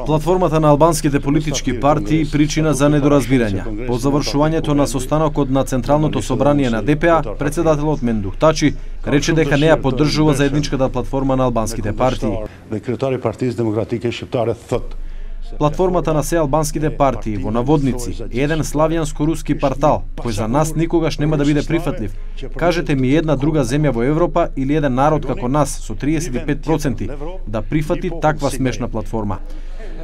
Платформата на албанските политички партии причина за недоразбирање. По завршувањето на состанокот на Централното собрание на ДПА, председателот Мендух Тачи рече дека не ја поддржува заедничката платформа на албанските партии. Платформата на се албанските партии во наводници е еден славјанско-руски портал кој за нас никогаш нема да биде прифатлив. Кажете ми една друга земја во Европа или еден народ како нас со 35% да прифати таква смешна платформа.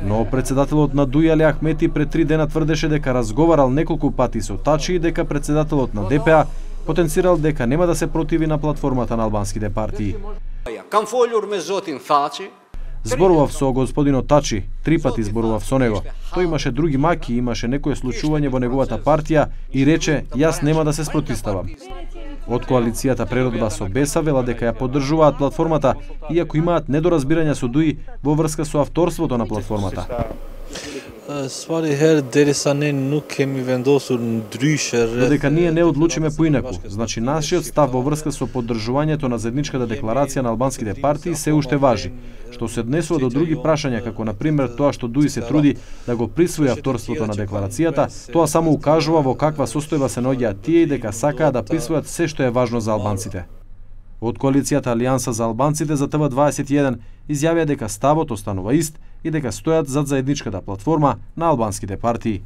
Но председателот на Дуј Али Ахмети пред 3 дена тврдеше дека разговарал неколку пати со Тачи и дека председателот на ДПА потенцирал дека нема да се противи на платформата на албанските партии. Зборував со господинот Тачи, 3 пати зборував со него. Тој имаше други маки, имаше некое случување во неговата партија и рече, јас нема да се спротиставам. Од коалицијата Преродба со Беса вела дека ја поддржуваат платформата, иако имаат недоразбирања со Дуј во врска со авторството на платформата. Додека ние не одлучиме поинаку, значи нашиот став во врска со поддржувањето на заедничката декларација на албанските партии се уште важи. Што се однесува до други прашања, како на пример тоа што Дуј се труди да го присвои авторството на декларацијата, тоа само укажува во каква состојба се наоѓаат тие и дека сакаат да присвојат се што е важно за албанците. Од коалицијата Алијанса за албанците за ТВ21 изјавија дека ставот останува ист и дека стојат зад заедничката платформа на албанските партии.